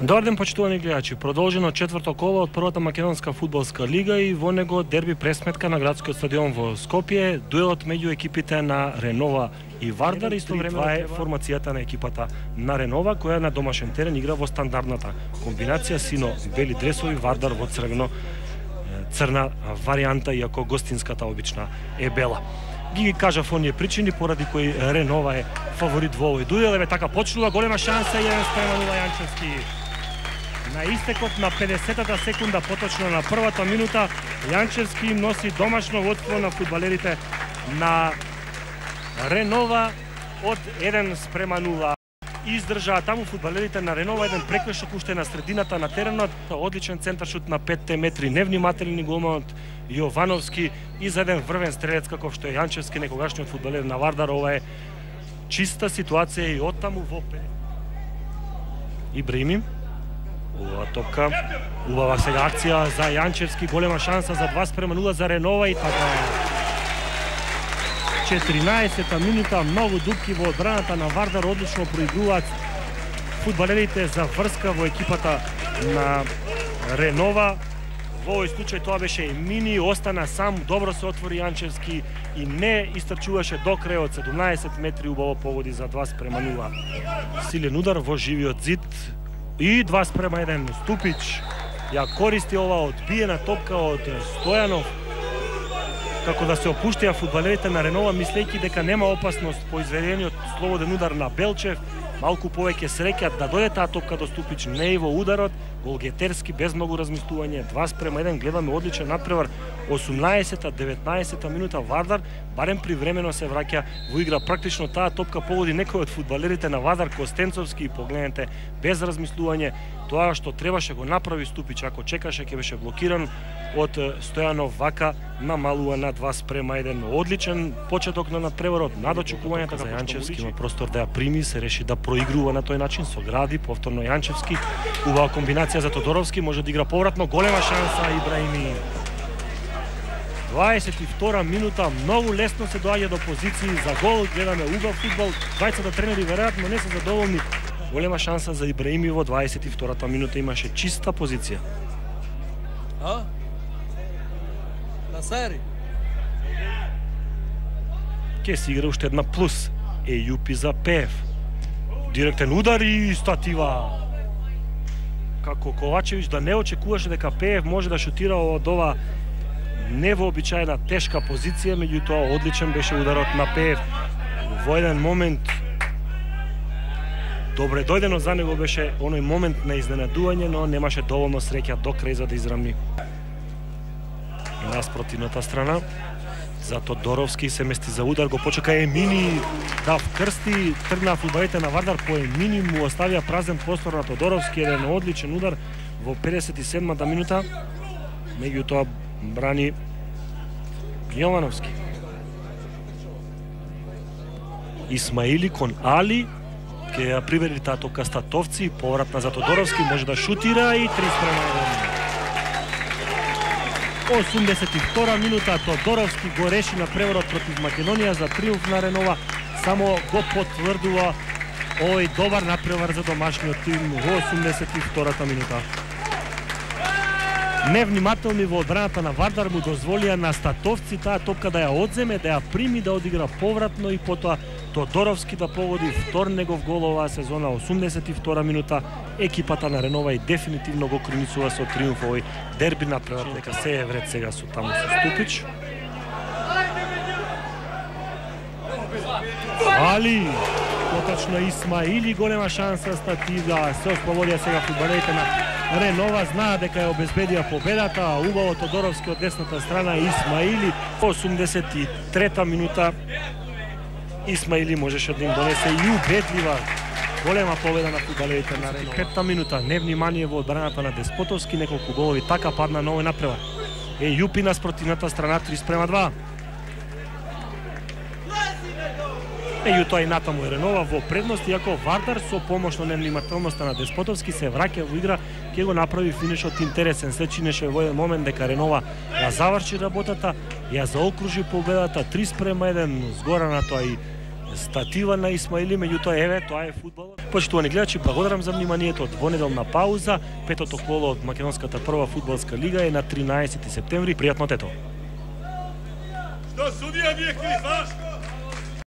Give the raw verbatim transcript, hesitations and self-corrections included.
Добар ден, почитувани гледачи. Продолжено четврто коло од првата македонска фудбалска лига и во него дерби пресметка на градскиот стадион во Скопје, дуелот меѓу екипите на Ренова и Вардар. Истовремено това е формацијата на екипата на Ренова, која на домашен терен игра во стандардната комбинација сино бели дресови, Вардар во црвено црна варијанта, иако гостинската обична е бела. Ги ги кажав оние причини поради кои Ренова е фаворит во овој дуел. Еве така почнува, голема шанса, еден спрема нула Јанчевски. На истекот на педесетата секунда, поточно на првата минута, Јанчевски им носи домашно водство на фудбалерите на Ренова од еден спрема нула. Издржаа таму фудбалерите на Ренова еден прекршок уште на средината на теренот, одличен центаршут на петте метри, невнимателни голманот Јовановски и за еден врвен стрелец каков што е Јанчевски, некогашниот фудбалер на Вардар. Ова е чиста ситуација и оттаму во пе. Ибраими, убава топка, убава сега акција за Јанчевски, голема шанса за два спрема нула за Ренова и така. четиринаесета минута, многу дупки во одбраната на Вардар, одлично проигруваат фудбалерите за врска во екипата на Ренова. Во овој случај тоа беше и Мини, остана сам, добро се отвори Јанчевски и не истрчуваше до крај од седумнаесет метри, убаво погоди за два спрема нула. Силен удар во живиот зид и два спрема еден. Ступич ја користи ова одбиена топка од Стојанов, како да се опуштија фудбалерите на Ренова, мислејќи дека нема опасност по изведениот слободен удар на Белчев. Малку повеќе среќа да дојде таа топка до Ступич, не и во ударот. Голгетерски без многу размислување, два спрема еден, гледаме одличен надпревар. осумнаесета деветнаесета минута, Вардар барем привремено се враќа во игра. Практично таа топка погоди некој од фудбалерите на Вардар, Костенцовски, и погледнете без размислување тоа што требаше го направи Ступич. Ако чекаше ќе беше блокиран од Стојанов, вака намалува на два спрема еден. Одличен почеток на надпреварот, над очекувањата за Јанчевски, има простор да ја прими, се реши да проигрува на тој начин, со гради повторно Јанчевски. Убава комбинација за Тодоровски, може да игра повратно, голема шанса Ибраими. дваесет и втора минута, многу лесно се доаѓа до позиции за гол, гледаме убав фудбал, двајцата тренери веројатно не се задоволни. Голема шанса за Ибраими во дваесет и втората минута, имаше чиста позиција. А? Насари. Ке си игра уште една плюс. Ејупи за Пев. Директен удар и статива. Како Ковачевич да не очекуваше дека Пеев може да шутира од ова невообичаена тешка позиција, меѓутоа одличен беше ударот на Пеев. Во еден момент добре дојдено за него беше оној момент на изненадување, но немаше доволно среќа до крај за да израмни. На спротивната страна за Тодоровски се мести за удар, го почека Емини да вкрсти, тргна фудбалите на Вардар по Емини, му оставија празен простор на Тодоровски, еден одличен удар во педесет и седмата минута, меѓутоа брани Јовановски. Исмаили кон Али, ке ја привери таа топка Статовци, повратна за Тодоровски, може да шутира и три спрема еден. осумдесет и втора минута, Тодоровски го реши на преворот против Македонија за триумф на Ренова, само го потврдува овој добар напревар за домашниот тим во осумдесет и втората минута. Невнимателни во одбраната на Вардар му дозволија на Статовци таа топка да ја одземе, да ја прими, да одигра повратно и потоа Тодоровски да погоди втор негов гол оваа сезона. осумдесет и втора минута, екипата на Ренова и дефинитивно го кроницува со триумф овој дерби напревар. Дека се е вред сега со таму со Ступич. Али, поточно Исмаили, голема шанса статива, се ослободија сега фудбалерите на Ренова, знаа дека ја обезбедија победата. Убаво Тодоровски од десната страна, Исмаили. осумдесет и трета минута, Исмаили можеше да им донесе и убедлива голема победа на фудбалерите на Ренова. Петта минута, невнимание во одбраната на Деспотовски, неколку голови така падна на овој напревар. Ејупи на спротивната страна, три спрема два. Меѓутоа и натаму е Ренова во предност, иако Вардар со помош на невнимателноста на Деспотовски се враќа во игра, ќе го направи финишот интересен. Се чинеше во еден момент дека Ренова ја заврши работата, ја заокружи победата, три спрема еден, згора на тоа и статива на Исмаили, меѓутоа еве тоа е фудбал. Почитувани гледачи, благодарам за вниманието. Од двонеделна пауза, петото коло од македонската прва фудбалска лига е на тринаесети септември. Пријатно тето. Што судија ми е крив, а?